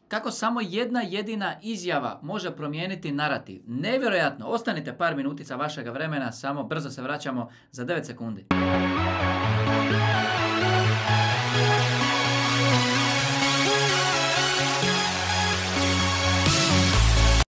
Kako samo jedna jedina izjava može promijeniti narativ. Nevjerojatno. Ostanite par minutica vašega vremena, samo brzo se vraćamo za 9 sekundi.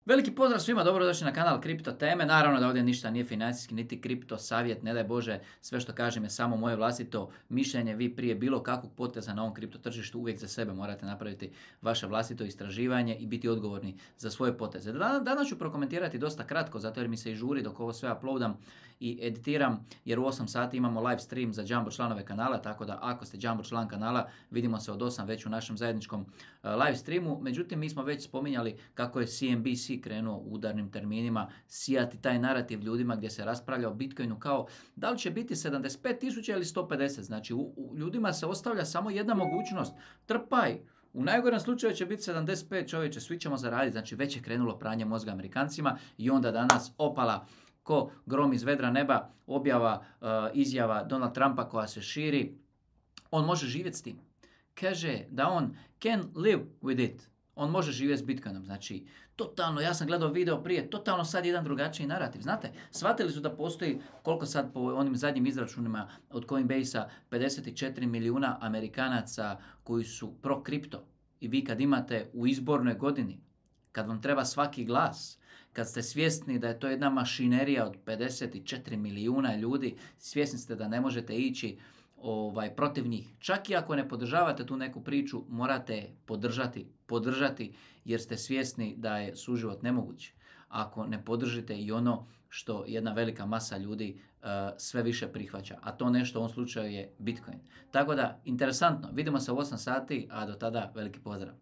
Veliki pozdrav svima, dobrodošli na kanal Kripto teme. Naravno da ovdje ništa nije financijski, niti kripto savjet, ne daj Bože, sve što kažem je samo moje vlastito mišljenje. Vi prije bilo kakvog poteza na ovom kripto tržištu uvijek za sebe morate napraviti vaše vlastito istraživanje i biti odgovorni za svoje poteze. Danas ću prokomentirati dosta kratko, zato jer mi se i žuri dok ovo sve uploadam i editiram, jer u 8 sati imamo live stream za Jumbo članove kanala, tako da ako ste Jumbo član kanala, vidimo se od 8 već u našem zajedničkom live streamu. Međutim, mi smo već spominjali kako je CNBC krenuo u udarnim terminima sijati taj narativ ljudima gdje se raspravlja o Bitcoinu kao da li će biti 75.000 ili 150. Znači ljudima se ostavlja samo jedna mogućnost. Trpaj. U najgorem slučaju će biti 75, čovječe, svi ćemo zaraditi. Znači već je krenulo pranje mozga Amerikancima i onda danas opala ko grom iz vedra neba objava izjava Donald Trumpa koja se širi. On može živjeti s tim. Kaže da on can live with it. On može živjeti s Bitcoinom. Znači, totalno, ja sam gledao video prije, totalno sad jedan drugačiji narativ. Znate, shvatili su da postoji, koliko sad po onim zadnjim izračunima od Coinbase-a, 54 milijuna Amerikanaca koji su pro-kripto. I vi kad imate u izbornoj godini, kad vam treba svaki glas, kad ste svjesni da je to jedna mašinerija od 54 milijuna ljudi, svjesni ste da ne možete ići protiv njih. Čak i ako ne podržavate tu neku priču, morate podržati jer ste svjesni da je suživot nemoguć. Ako ne podržite i ono što jedna velika masa ljudi sve više prihvaća, a to nešto u ovom slučaju je Bitcoin. Tako da, interesantno, vidimo se u 8 sati, a do tada veliki pozdrav.